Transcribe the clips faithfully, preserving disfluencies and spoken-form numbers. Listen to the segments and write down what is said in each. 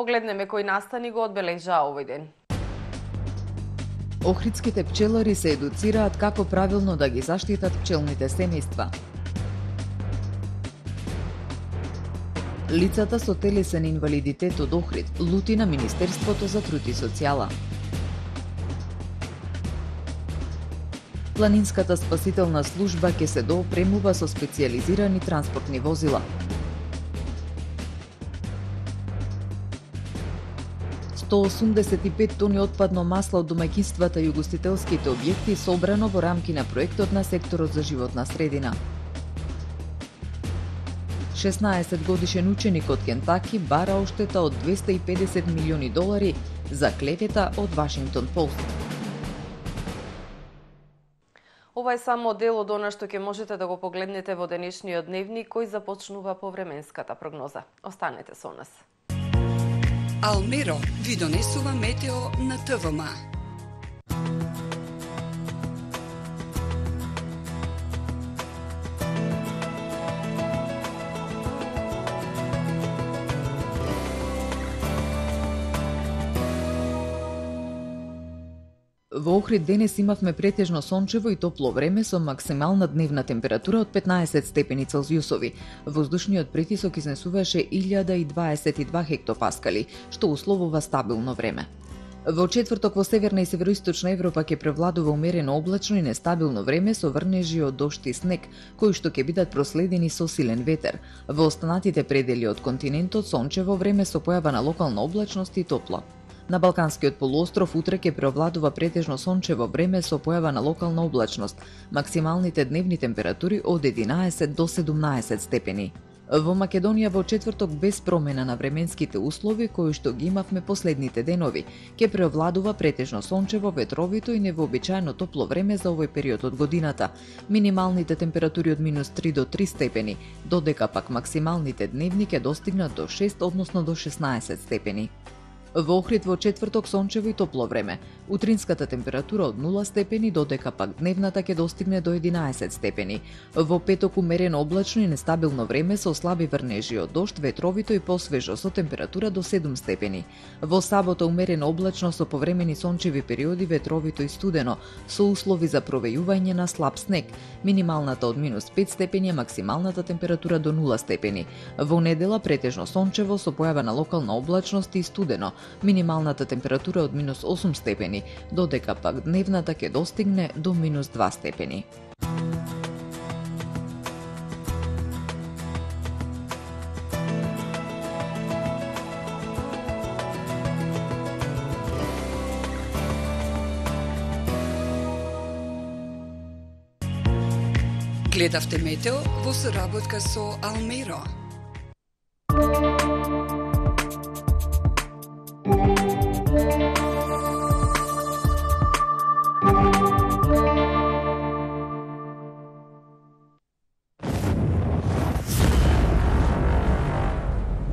погледнеме кои настани го одбележаа овој ден. Охридските пчелари се едуцираат како правилно да ги заштитат пчелните семејства. Лицата со телесен инвалидитет од Охрид лути на Министерството за труд и социјала. Планинската спасителна служба ќе се доопремува со специјализирани транспортни возила. сто осумдесет и пет тони отпадно масло од домаќинствата и угостителските објекти собрано во рамки на проектот на секторот за животна средина. шеснаесет годишен ученик од Кентаки бара оштета од двесте и педесет милиони долари за клевета од Вашингтон Пост. Ова е само дел од она што ќе можете да го погледнете во денешниот дневник кој започнува по временската прогноза. Останете со нас. Алмеро ви донесува метео на ТВМ. Во Охрид денес имавме претежно сончево и топло време со максимална дневна температура од петнаесет степени Целзиусови. Воздушниот притисок изнесуваше илјада и дваесет и два хектопаскали, што условува стабилно време. Во четврток во северна и североисточна Европа ќе превладува умерено облачно и нестабилно време со врнежи од дожд и снег, кои што ќе бидат проследени со силен ветер. Во останатите предели од континентот сончево време со појава на локална облачност и топло. На Балканскиот полуостров утре ќе преовладува претежно сончево време со појава на локална облачност. Максималните дневни температури од единаесет до седумнаесет степени. Во Македонија во четврток без промена на временските услови кои што ги имавме последните денови, ќе преовладува претежно сончево, ветровито и невообичаено топло време за овој период од годината. Минималните температури од минус три до три степени, додека пак максималните дневни ќе достигнат до шест, односно до шеснаесет степени. Во Охрид во четврток сончево и топло време. Утринската температура од нула степени, додека пак дневната ќе достигне до единаесет степени. Во петок умерено облачно и нестабилно време со слаби врнежи од дожд, ветровито и посвежо со температура до седум степени. Во сабота умерено облачно со повремени сончеви периоди, ветровито и студено, со услови за провејување на слаб снег. Минималната од минус пет степени, максималната температура до нула степени. Во недела претежно сончево со појава на локална облачност и студено. Минималната температура од минус осум степени, додека пак дневната ќе достигне до минус два степени. Гледавте метео во соработка со Алмеро.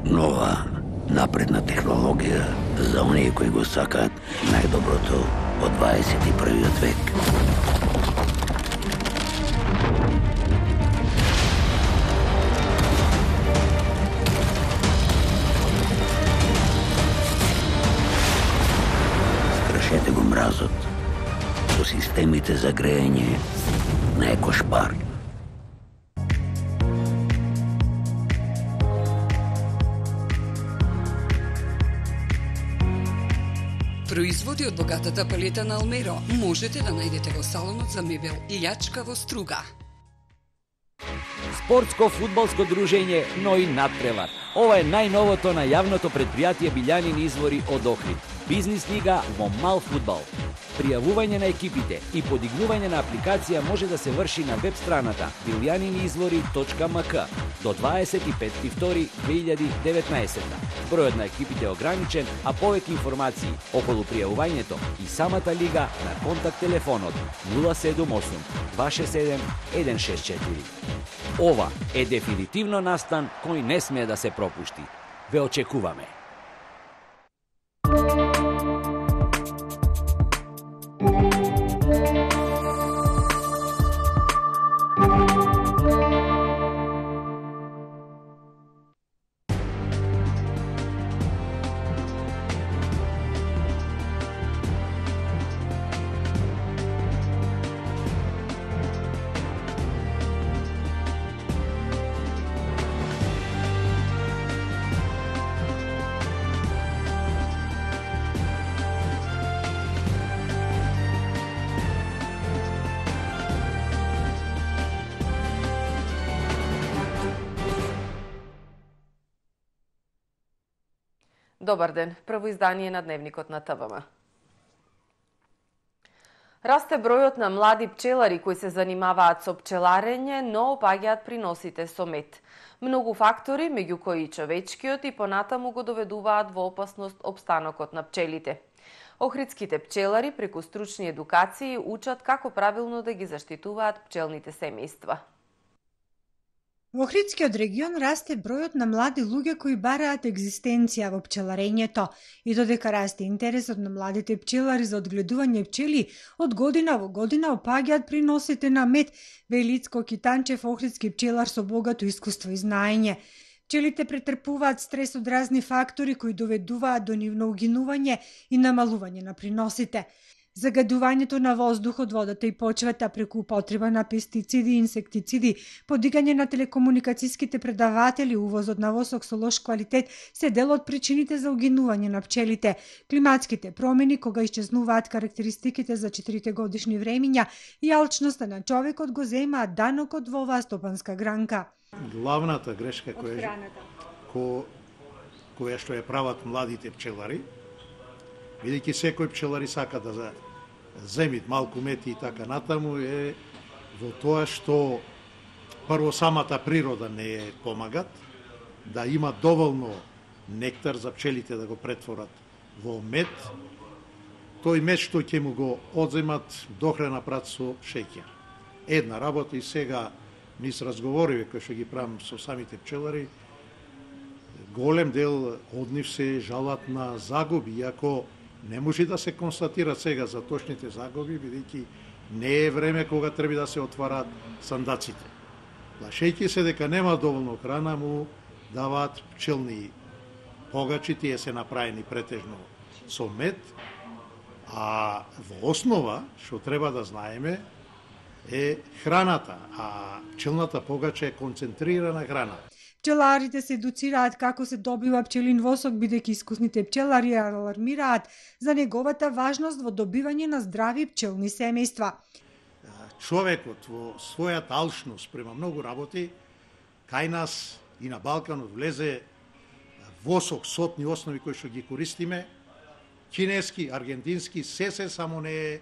Нова, напредна технологија за оние кои го сакаат најдоброто од дваесет и првиот век. Скршете го мразот со системите за грејање на Екошпар. Производи од богатата палета на Алмеро можете да најдете во салонот за мебел Илјачка во Струга. Спортско-фудбалско дружење Нои надпревар. Ова е најновото на јавното предпријатие Билјанини извори од Охрид. Бизнис лига во мал фудбал. Пријавување на екипите и подигнување на апликација може да се врши на веб страната билјаниниизвори точка ем ка до дваесет и пети втори две илјади и деветнаесетта. Бројот на екипите е ограничен, а повеќе информации околу пријавувањето и самата лига на контакт телефонот нула седум осум два шест седем еден шест четири. Ова е дефинитивно настан кој не смее да се пропушти. Ве очекуваме. Добар ден, прво издание на Дневникот на ТВМ. Расте бројот на млади пчелари кои се занимаваат со пчеларење, но опаѓаат приносите со мед. Многу фактори, меѓу кои и човечкиот, и понатаму го доведуваат во опасност опстанокот на пчелите. Охридските пчелари преку стручни едукации учат како правилно да ги заштитуваат пчелните семејства. Во Охридскиот регион расте бројот на млади луѓе кои бараат екзистенција во пчеларењето и додека расте интересот на младите пчелари за одгледување пчели, од година во година опаѓаат приносите на мед, вели Ицко Китанчев, охридски пчелар со богато искуство и знаење. Пчелите претрпуваат стрес од разни фактори кои доведуваат до нивно угинување и намалување на приносите. Загадувањето на воздухот, водата и почвата преку употреба на пестициди и инсектициди, подигање на телекомуникацијските предаватели, увозот на восок со лош квалитет се дел од причините за угинување на пчелите. Климатските промени, кога исчезнуваат карактеристиките за четирите годишни времиња и алчноста на човекот го земаат данокот во оваа стопанска гранка. Главната грешка која, ко, која што ја прават младите пчелари, бидејќи секој пчелари сака да земит малку мед и така натаму, е во тоа што прво самата природа не е помагат, да има доволно нектар за пчелите да го претворат во мед, тој мед што ќе му го одземат дохрана прат со шеќер. Една работа и сега низ разговориве кои што ги правам со самите пчелари, голем дел од нив се жалат на загуби, иако не може да се констатира сега за точните загуби, бидејќи не е време кога треба да се отварат сандаците. Плашејќи се дека нема доволно храна, му даваат пчелни погачи, тие се направени претежно со мед, а во основа, што треба да знаеме, е храната, а пчелната погача е концентрирана храна. Пчеларите се едуцираат како се добива пчелин восок, бидејќи искусните пчелари алармираат за неговата важност во добивање на здрави пчелни семејства. Човекот во својата алчност према многу работи, кај нас и на Балканот влезе восок, сотни основи кои што ги користиме, кинески, аргентински, се се само не е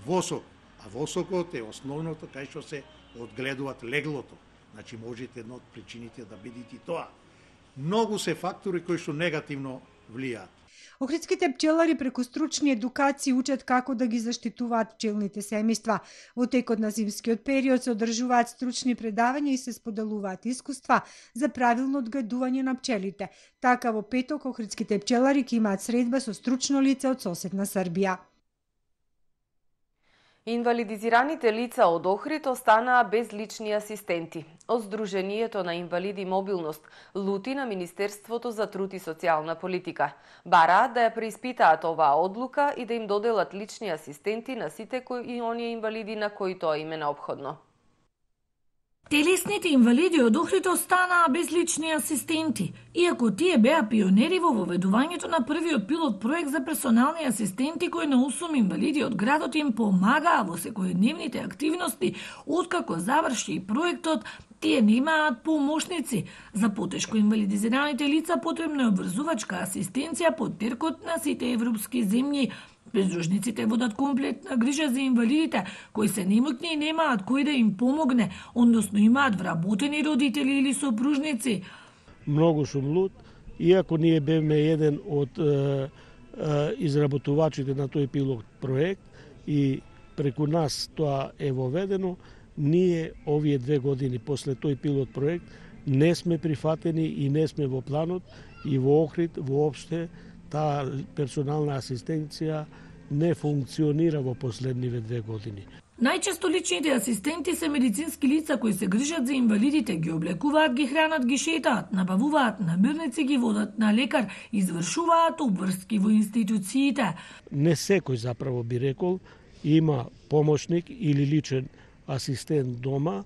восок, а восокот е основното кај што се одгледуваат леглото. Значи, можете една од причините да бидите тоа. Многу се фактори кои што негативно влијаат. Охридските пчелари преку стручни едукации учат како да ги заштитуваат пчелните семејства. Во текот на зимскиот период се одржуваат стручни предавања и се споделуваат искуства за правилно одгледување на пчелите. Така во петок охридските пчелари ќе имаат средба со стручно лице од соседна Србија. Инвалидизираните лица од Охрид останаа без лични асистенти. Од Сдруженијето на инвалиди мобилност лути на Министерството за труд и социјална политика. Бараат да ја преиспитаат оваа одлука и да им доделат лични асистенти на сите кои и оние инвалиди на кои тоа им е неопходно. Телесните инвалиди од Охрид останаа без лични асистенти, иако тие беа пионери во воведувањето на првиот пилот проект за персонални асистенти кои на осум инвалиди од градот им помагаа во секојдневните активности. Откако заврши и проектот, тие немаат помошници. За потешко инвалидизираните лица потребна е обврзувачка асистенција под теркот на сите европски земји. Бездружниците водат комплетна грижа за инвалидите, кои се немотни и немаат кој да им помогне, односно имаат вработени родители или сопружници. Многу сум луд, иако ние бевме еден од е, е, изработувачите на тој пилот проект и преку нас тоа е воведено, ние овие две години после тој пилот проект не сме прифатени и не сме во планот и во Охрид воопште таа персонална асистенција не функционира во последниве две години. Најчесто личните асистенти се медицински лица кои се грижат за инвалидите, ги облекуваат, ги хранат, ги шетаат, набавуваат намирници, ги водат на лекар, извршуваат обврски во институциите. Не секој заправо би рекол има помошник или личен асистент дома,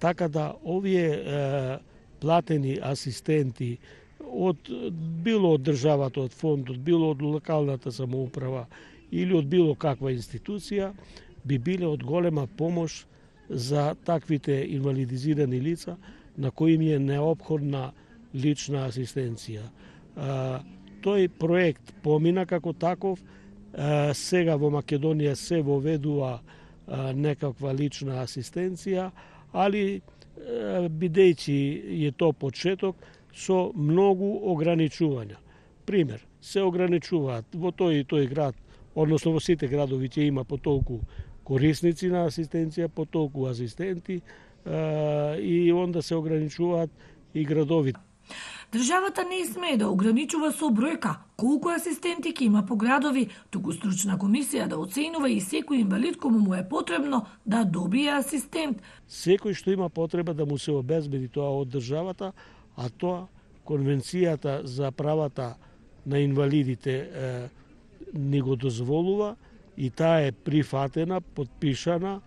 така да овие е, платени асистенти од било од државата, од фондот, било од локалната самоуправа или од било каква институција, би биле од голема помош за таквите инвалидизирани лица на кои им е неопходна лична асистенција. тој проект помина како таков. Сега во Македонија се воведува некаква лична асистенција, али бидејќи е то почеток со многу ограничувања. Пример, се ограничуваат во тој и тој град, односно во сите градови ќе има по толку корисници на асистенција, по толку асистенти и онда се ограничуваат и градовите. Државата не смее да ограничува со бројка колку асистенти ќе има по градови, туку стручна комисија да оценува и секој инвалид кому му е потребно да добие асистент. Секој што има потреба да му се обезбеди тоа од државата, а тоа Конвенцијата за правата на инвалидите е, ни го дозволува и таа е прифатена, подпишана,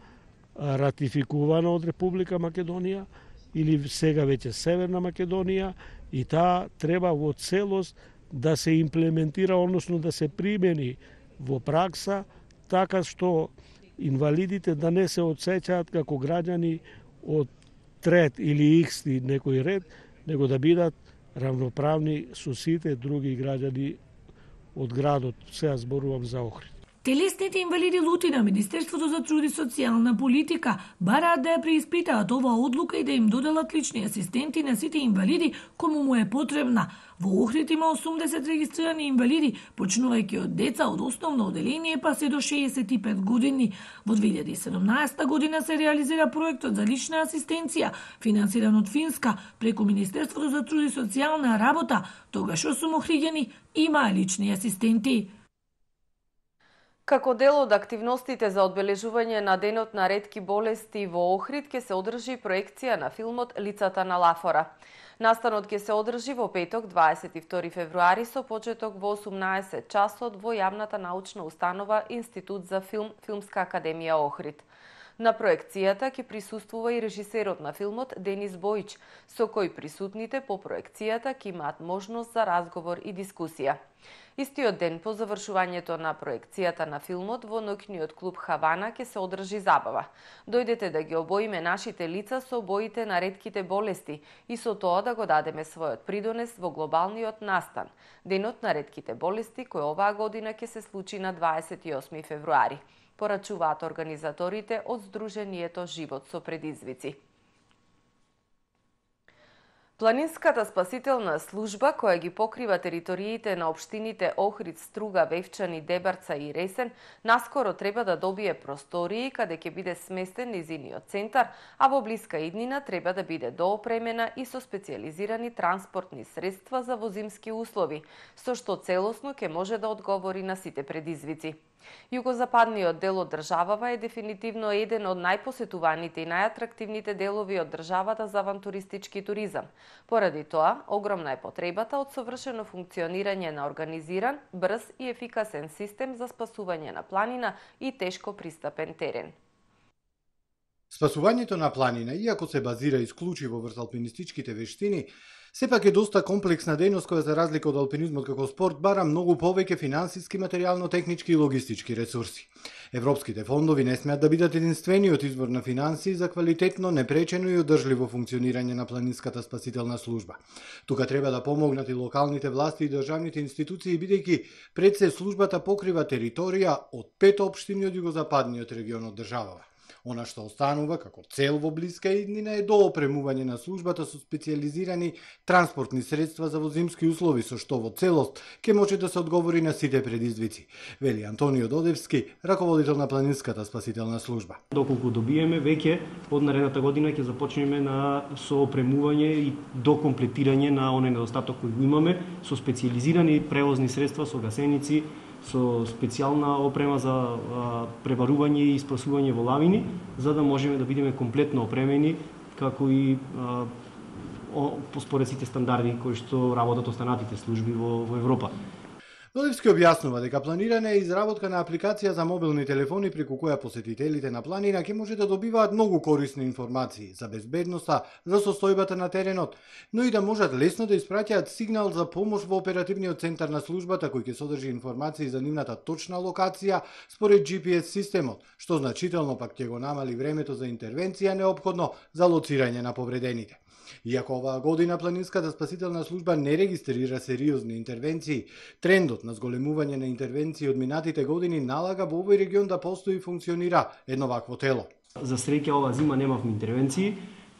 ратификувана од Република Македонија или сега веќе Северна Македонија, и таа треба во целост да се имплементира, односно да се примени во пракса, така што инвалидите да не се одсеќаат како граѓани од трет или иксти некој ред, него да бидат равноправни со сите други граѓани од градот. Сега зборувам за Охрид. Телесните инвалиди лути на Министерството за труд и социјална политика бараат да ја преиспитаат оваа одлука и да им доделат лични асистенти на сите инвалиди кому му е потребна. Во Охрид има осумдесет регистрирани инвалиди, почнувајќи од деца од основно оделение па се до шеесет и пет години. Во две илјади и седумнаесетта година се реализира проектот за лична асистенција, финансиран од Финска преку Министерството за труд и социјална работа. Тогаш осум охриѓани имаа лични асистенти. Како дел од активностите за одбележување на Денот на ретки болести во Охрид ќе се одржи проекција на филмот Лицата на Лафора. Настанот ќе се одржи во петок, дваесет и втори февруари, со почеток во осумнаесет часот во јавната научна установа Институт за филм, Филмска академија Охрид. На проекцијата ќе присуствува и режисерот на филмот Денис Бојич, со кој присутните по проекцијата ќе имаат можност за разговор и дискусија. Истиот ден по завршувањето на проекцијата на филмот во ноќниот клуб Хавана ќе се одржи забава. Дојдете да ги обоиме нашите лица со боите на ретките болести и со тоа да го дадеме својот придонес во глобалниот настан, Денот на ретките болести, кој оваа година ќе се случи на дваесет и осми февруари. Порачуваат организаторите од Сдруженијето Живот со предизвици. Планинската спасителна служба, која ги покрива териториите на општините Охрид, Струга, Вевчани, Дебарца и Ресен, наскоро треба да добие простории каде ќе биде сместен низиниот центар, а во блиска иднина треба да биде доопремена и со специјализирани транспортни средства за возимски услови, со што целосно ќе може да одговори на сите предизвици. Југозападниот дел од државава е дефинитивно еден од најпосетуваните и најатрактивните делови од државата за авантуристички туризам. Поради тоа, огромна е потребата од совршено функционирање на организиран, брз и ефикасен систем за спасување на планина и тешко пристапен терен. Спасувањето на планина, иако се базира исклучиво врз алпинистичките вештини, сепак е доста комплексна дејност која за разлика од алпинизмот како спорт бара многу повеќе финансиски, материјално-технички и логистички ресурси. Европските фондови не смеат да бидат единствениот извор на финансии за квалитетно, непречено и одржливо функционирање на планинската спасителна служба. Тука треба да помогнат и локалните власти и државните институции, бидејќи пред се службата покрива територија од пет општини од југозападниот регион од државава. Она што останува како цел во блиска иднина е доопремување на службата со специјализирани транспортни средства за возимски услови, со што во целост ќе може да се одговори на сите предизвици, вели Антонио Додевски, раководител на планинската спасителна служба. Доколку добиеме, веќе од наредната година ќе започнеме на соопремување и докомплетирање на оној недостаток кој го имаме со специјализирани превозни средства, со гасеници, со специјална опрема за а, пребарување и спасување во лавини, за да можеме да бидеме комплетно опремени, како и а, о, според сите стандарди кои што работат останатите служби во, во Европа. Додевски објаснува дека планирана е изработка на апликација за мобилни телефони преку која посетителите на планина ќе може да добиваат многу корисни информации за безбедноста, за состојбата на теренот, но и да можат лесно да испраќаат сигнал за помош во оперативниот центар на службата кој ќе содржи информации за нивната точна локација според Джи Пи Ес системот, што значително пак ќе го намали времето за интервенција неопходно за лоцирање на повредените. Иако оваа година планинската спасителна служба не регистрира сериозни интервенции, трендот на зголемување на интервенции од минатите години налага во овој регион да постои и функционира едно вакво тело. За среќа ова зима немавме интервенции,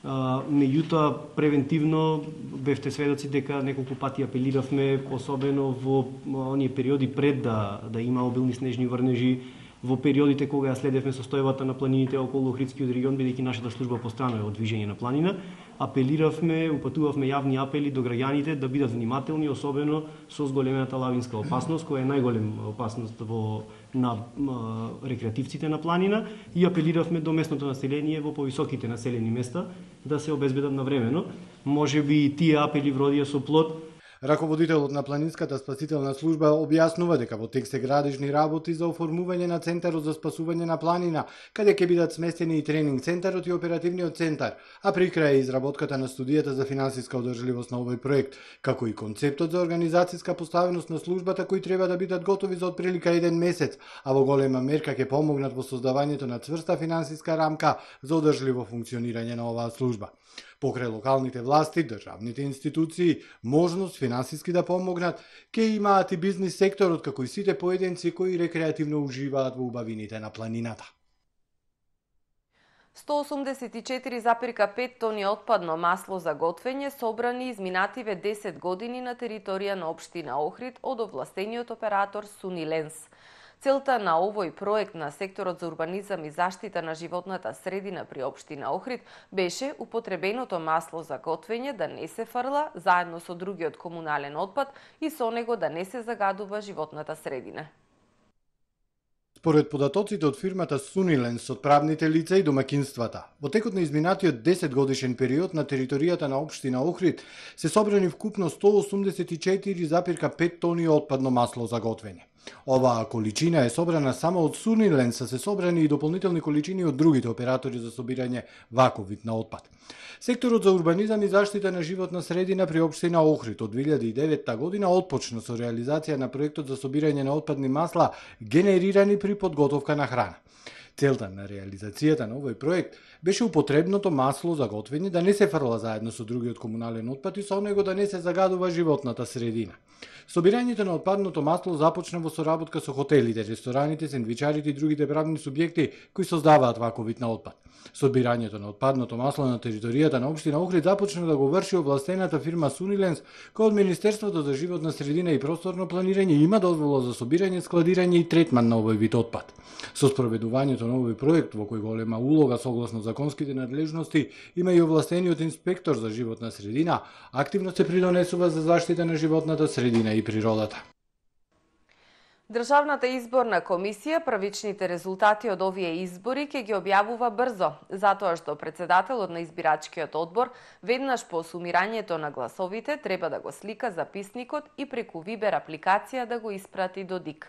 меѓутоа превентивно бевте сведоци дека неколку пати апелиравме, особено во оние периоди пред да да има обилни снежни врнежи, во периодите кога ја следевме состојбата на планините околу Охридскиот регион, бидејќи нашата служба постојано е од движење на планина, апелиравме, упатувавме јавни апели до граѓаните да бидат внимателни, особено со зголемената лавинска опасност, која е најголем опасност во на м, рекреативците на планина, и апелиравме до местното население во повисоките населени места да се обезбедат навремено. Можеби тие апели вродија со плод. Раководителот на планинската спасителна служба објаснува дека во тек се градежни работи за оформување на центарот за спасување на планина, каде ќе бидат сместени и тренинг центарот и оперативниот центар, а при крај изработката на студијата за финансиска одржливост на овој проект, како и концептот за организацијска поставеност на службата кои треба да бидат готови за отприлика еден месец, а во голема мерка ќе помогнат во создавањето на цврста финансиска рамка за одржливо функционирање на оваа служба. Покрај локалните власти, државните институции, можност финансиски да помогнат, ќе имаат и бизнис секторот, како и сите поединци кои рекреативно уживаат во убавините на планината. сто осумдесет и четири запирка пет тони отпадно масло за готвење собрани изминативе десет години на територија на општина Охрид од овластениот оператор Суниленс. Целта на овој проект на секторот за урбанизам и заштита на животната средина при општина Охрид беше употребеното масло за готвење да не се фрла заедно со другиот комунален отпад и со него да не се загадува животната средина. Според податоците од фирмата Суниленс од правните лица и домакинствата, во текот на изминатиот десет годишен период на територијата на општина Охрид се собрани вкупно сто осумдесет и четири запирка пет тони отпадно масло за готвење. Оваа количина е собрана само од Суниленс, а се собрани и дополнителни количини од другите оператори за собирање ваков вид на отпад. Секторот за урбанизам и заштита на животна средина при општина Охрид од две илјади и девета година отпочна со реализација на проектот за собирање на отпадни масла генерирани при подготовка на храна. Целта на реализацијата на овој проект беше употребното масло за готвење да не се фрла заедно со другиот комунален отпад и со него да не се загадува животната средина. Собирањето на отпадното масло започна во соработка со хотелите, рестораните, сендвичарите и другите правни субјекти кои создаваат ваков вид на отпад. Собирањето на отпадното масло на територијата на општина Охрид започна да го врши овластената фирма Суниленс, која од Министерството за животна средина и просторно планирање има дозвола за собирање, складирање и третман на овој вид отпад. Со спроведувањето на овој проект, во кој голема улога согласно законските надлежности има и овластениот инспектор за животна средина, активно се придонесува за заштита на животната средина и природата. Државната изборна комисија првичните резултати од овие избори ќе ги објавува брзо, затоа што председателот на избирачкиот одбор веднаш по сумирањето на гласовите треба да го слика записникот и преку Вибер апликација да го испрати до ДИК.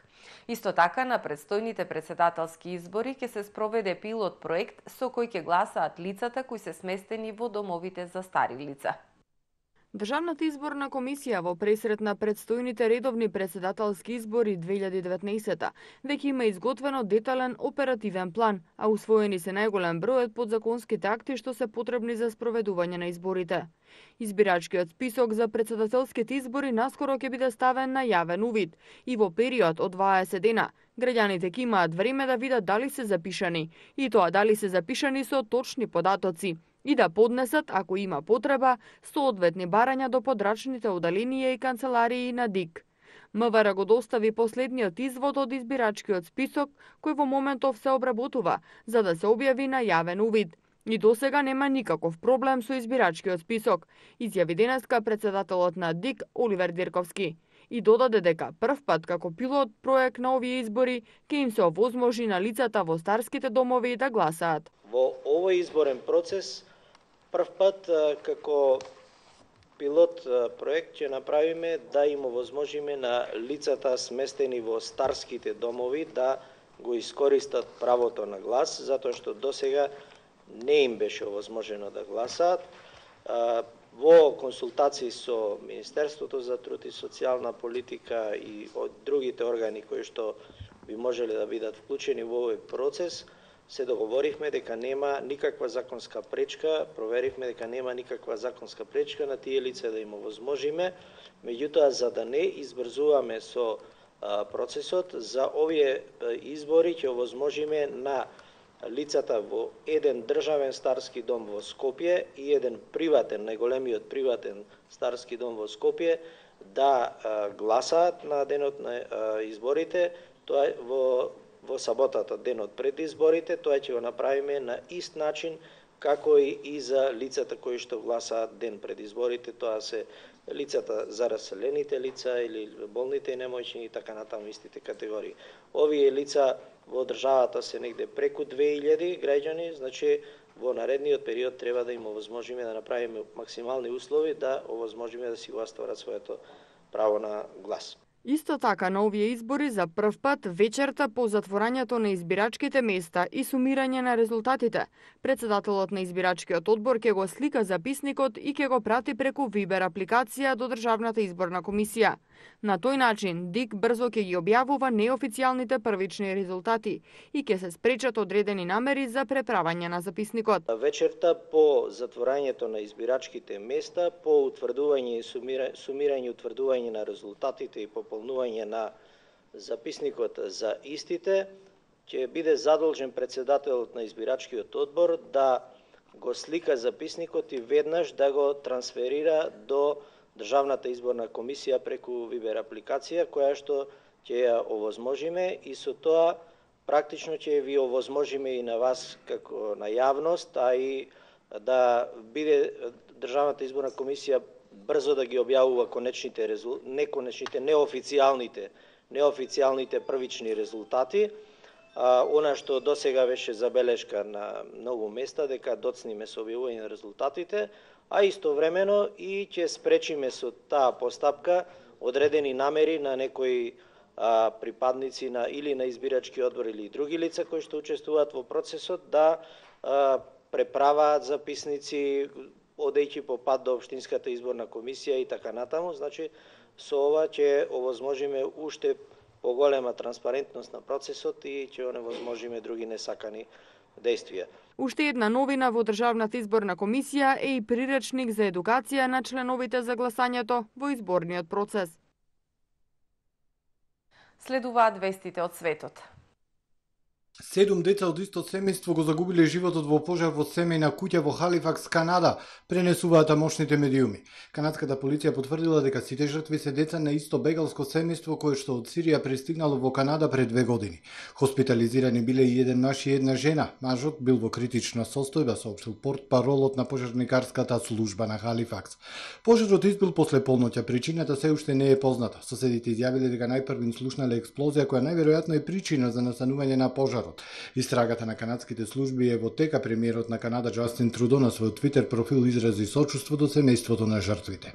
Исто така на предстојните председателски избори ќе се спроведе пилот проект со кој ќе гласаат лицата кои се сместени во домовите за стари лица. Државната изборна комисија во пресрет на предстојните редовни председателски избори две илјади и деветнаесета веќе има изготвено детален оперативен план, а усвоени се најголем број од подзаконските акти што се потребни за спроведување на изборите. Избирачкиот список за председателските избори наскоро ќе биде ставен на јавен увид и во период од дваесет дена граѓаните ќе имаат време да видат дали се запишани и тоа дали се запишани со точни податоци и да поднесат, ако има потреба, соодветни барања до подрачните оделенија и канцеларии на ДИК. МВР го достави последниот извод од избирачкиот список, кој во моментов се обработува, за да се објави на јавен увид. И досега нема никаков проблем со избирачкиот список, изјави денеска председателот на ДИК Оливер Дирковски. И додаде дека прв пат како пилот проект на овие избори ќе им се овозможи на лицата во старските домови да гласаат. Во овој изборен процес прв пат како пилот проект ќе направиме да им овозможиме на лицата сместени во старските домови да го искористат правото на глас, затоа што досега не им беше овозможено да гласаат. Во консултации со Министерството за труд и социјална политика и од другите органи кои што би можеле да бидат вклучени во овој процес, се договоривме дека нема никаква законска пречка, проверивме дека нема никаква законска пречка на тие лица да им овозможиме, меѓутоа за да не избрзуваме со процесот, за овие избори ќе овозможиме на лицата во еден државен старски дом во Скопје и еден приватен, најголемиот приватен старски дом во Скопје, да гласаат на денот на изборите, тоа во во саботата, денот пред изборите. Тоа ќе го направиме на ист начин како и за лицата кои што гласаат ден пред изборите. Тоа се лицата за раселените лица или болните и немоćни и така натаму истите категории. Овие лица во државата се негде преку две илјади граѓани, значи во наредниот период треба да им овозможиме да направиме максимални услови да овозможиме да си го остварат своето право на глас. Исто така, на овие избори за прв пат вечерта по затворањето на избирачките места и сумирање на резултатите, председателот на избирачкиот одбор ќе го слика записникот и ќе го прати преку Вибер апликација до Државната изборна комисија. На тој начин, ДИК брзо ќе ги објавува неофицијалните првични резултати и ќе се спречат одредени намери за преправање на записникот. Вечерта по затворањето на избирачките места, по утврдување и сумирање и утврдување на резултатите и пополнување на записникот за истите, ќе биде задолжен председателот на избирачкиот одбор да го слика записникот и веднаш да го трансферира до Државната изборна комисија преку Вибер апликација, која што ќе ја овозможиме и со тоа практично ќе ви овозможиме и на вас како на јавност, а и да биде Државната изборна комисија брзо да ги објавува конечните резултати, неконечните, неофицијалните, неофицијалните првични резултати. А, она што досега беше забелешка на многу места дека доцниме со објавување на резултатите, а истовремено и ќе спречиме со таа постапка одредени намери на некои а, припадници на или на избирачки одбор или други лица кои што учествуваат во процесот да а, преправаат записници одејќи по пат до Општинската изборна комисија и така натаму. Значи, со ова ќе овозможиме уште поголема транспарентност на процесот и ќе оневозможиме други несакани действија. Уште една новина во Државната изборна комисија е и приречник за едукација на членовите за гласањето во изборниот процес. Следуваат вестите од светот. Седум деца од исто семејство го загубиле животот во пожар во семејна куќа во Халифакс, Канада, пренесуваат тамошните медиуми. Канадската полиција потврдила дека сите жртви се деца на исто бегалско семејство кое што од Сирија пристигнало во Канада пред две години. Хоспитализирани биле и еден маж и една жена. Мажот бил во критична состојба, соопштил портпаролот на пожарникарската служба на Халифакс. Пожарот избил после полноќа, причината се уште не е позната. Соседите изјавиле дека најпрвин слушнале експлозија која најверојатно е причина за настанување на пожар. Истрагата на канадските служби е во тека. Премиерот на Канада Џастин Трудо на својот Твитер профил изрази сочувство до семејството на жртвите.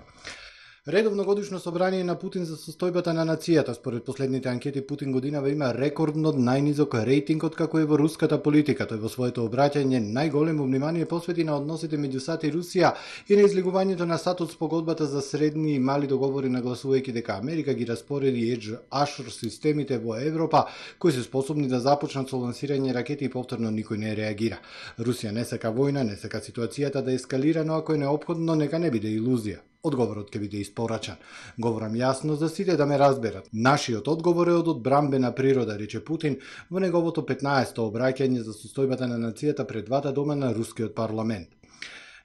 Редовно годишно собрание на Путин за состојбата на нацијата. Според последните анкети, Путин годинава има рекордно најнизок рейтинг од како е во руската политика. Тој во своето обраќање најголемо внимание посвети на односите меѓу САД и Русија и на излегувањето на САД од спогодбата за средни и мали договори, нагласувајќи дека Америка ги распореди Едж Ашр системите во Европа, кои се способни да започнат со лансирање ракети и повторно никој не реагира. Русија не сака војна, не сака ситуацијата да ескалира, но ако е неопходно, нека не биде илузија. Одговорот ќе биде испорачан. Говорам јасно за сите да ме разберат. Нашиот одговор е од одбрамбена природа, рече Путин во неговото петнаесето обраќање за состојбата на нацијата пред двата дома на рускиот парламент.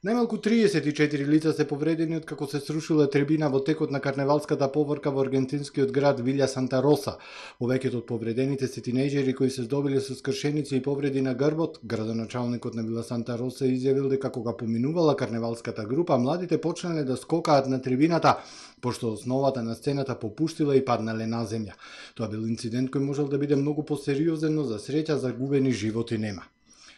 Најмалку триесет и четири лица се повредени од како се срушила трибина во текот на карневалската поворка во аргентинскиот град Вилја Санта Роса. Повеќето од повредените се тинејџери кои се здобиле со скршеници и повреди на грбот. Градоначалникот на Вила Санта Роса изјавил дека кога поминувала карневалската група, младите почнале да скокаат на трибината, пошто основата на сцената попуштила и паднале на земја. Тоа бил инцидент кој можел да биде многу посериозен, но за среќа загубени животи нема.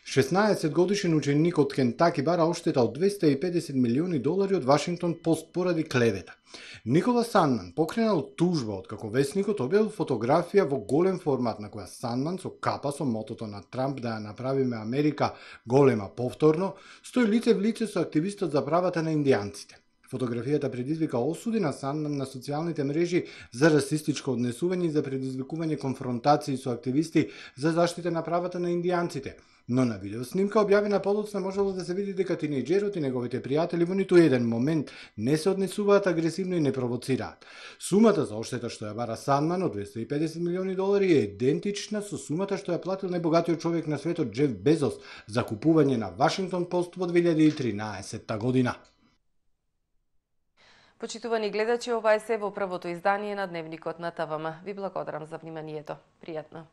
шеснаесет годишен ученик од Кентаки бара оштета од двесте и педесет милиони долари од Вашингтон Пост поради клевета. Никола Санман покренал тужба од како весникот објавил фотографија во голем формат на која Санман со капа со мотото на Трамп да ја направиме Америка голема повторно, стои лице в лице со активистот за правата на индијанците. Фотографијата предизвика осуди на Сандман на социјалните мрежи за расистичко однесување и за предизвикување конфронтации со активисти за заштита на правата на индијанците. Но на видеоснимка објавена подоцна можело да се види дека тинејџерот и неговите пријатели во ниту еден момент не се однесуваат агресивно и не провоцираат. Сумата за оштета што ја бара Сандман од двесте и педесет милиони долари е идентична со сумата што ја платил најбогатиот човек на светот Џеф Безос за купување на Вашингтон Пост во две илјади и тринаесетта година. Почитувани гледачи, ова е се во првото издание на Дневникот на ТВМ. Ви благодарам за вниманието. Пријатно.